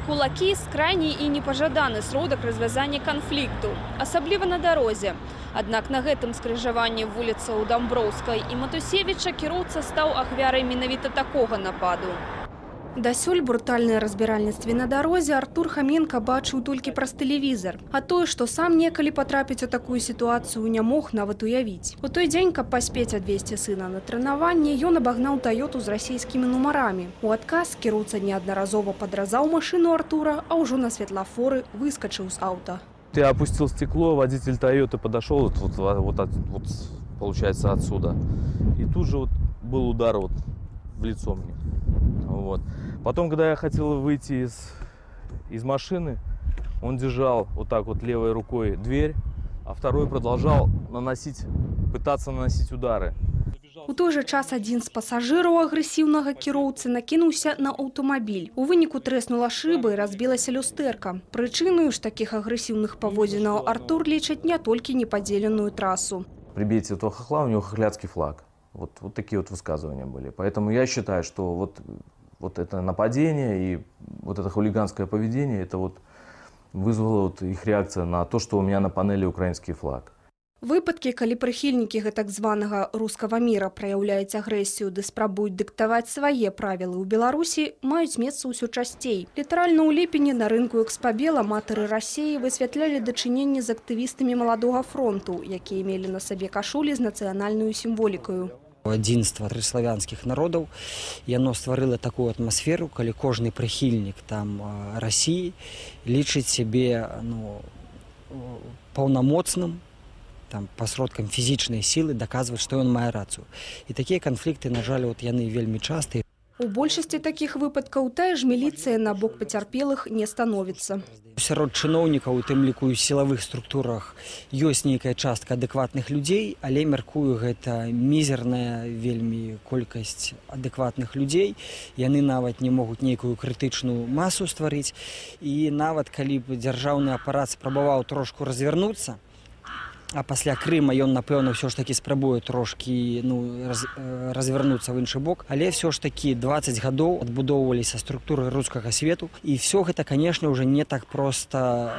Кулаки – крайні і непажаданы сродак развязання канфлікту, асабліва на дарозе. Аднак на гэтым скрыжаванні вуліцаў Дамброўскай і Матусевіча кіроўца стаў ахвярай менавіта такога нападу. Дасюль брутальнае разбіральніцтве на дарозе Артур Хаменка бачыў толькі праз тэлевізар. А тое, што сам некалі патрапіць у такую сітуацыю, не мог нават уявіць. У той дзень, каб паспець адвезці сына на трэнаванне, ён абагнаў Тойоту з расійскімі нумарамі. У адказ кіроўца неаднаразова падразаў машыну Артура, а ўжо на светлафоры выскачыў з аўта. Я опустил стекло, водитель Тойоты подошел, получается, отсюда. И тут же был удар в лицо мне. Вот. Потом, когда я хотел выйти из машины, он держал вот так вот левой рукой дверь, а второй продолжал пытаться наносить удары. У той жа час адзін з пасажыраў агрэсіўнага кіроўцы накінуўся на аўтамабіль. У выніку трэснула шыба і разбілася люстэрка. Прычыною ж такіх агрэсіўных паводзінаў Артур лічыць не толькі непадзеленую трасу. Прибейте этого хохла, у него хохлядский флаг. Вот такие вот высказывания были. Поэтому я считаю, что вот это нападение и вот это хулиганское поведение, это вызвало их реакция на то, что у меня на панели украинский флаг. Выпадкі, калі прыхільнікі гэтак званага рускага міра праяўляюць агрэсію ды спрабуюць дыктаваць свае правілы ў Беларусі, маюць месца ўсё часцей. Літаральна ў ліпені на рынку Экспабел аматары Расіі высвятлялі дачыненні з актывістамі маладога фронту, якія мелі на сабе кашулі з нацыянальнаю сімволікаю. Адзінства славянскіх народаў, яно стварыла такую атмасферу, калі кожны прыхільнік Расіі лічыць сябе паўнамоцным, пасродкам фізічнай сілы даказваць, што ён мае рацыю. І такія канфлікты, на жаль, яны вельмі частыя. У большасці такіх выпадкаў тая ж міліцыя на бок пацярпелых не становіцца. Сярод чыноўнікаў, у тым ліку ў сілавых структурах, ёсць нейкая частка адэкватных людзей, але, мяркую, гэта мізерная вельмі колькасць адэкватных людзей. Яны нават не могуць нейкую крытычную масу стварыць. І нават калі б дзяржаўны апарат спрабаваў трошку развярнуцца, а пасля Крыма ён, напэўна, ўсё ж такі спрабуе трошкі развярнуцца ў іншы бок. Але ўсё ж такі 20 гадоў адбудоўваліся структуры рускага свету. І ўсё гэта, канешне, ўжо не так проста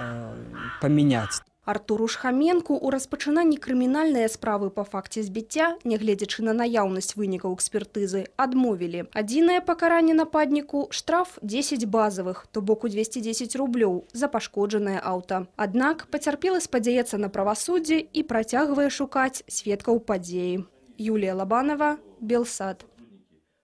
памяняць. Артуру Хаменку ў распачынанні крымінальнай справы па факце збіцця, нягледзячы на наяўнасць вынікаў экспертызы, адмовілі. Адзінае пакаранне нападніку – штраф 10 базавых, то бок у 210 рублёў за пашкоджанае аўта. Аднак пацярпелы спадзяецца на правасуддзе і працягвае шукаць сведкаў падзеі. Юлія Лабанова, Белсад.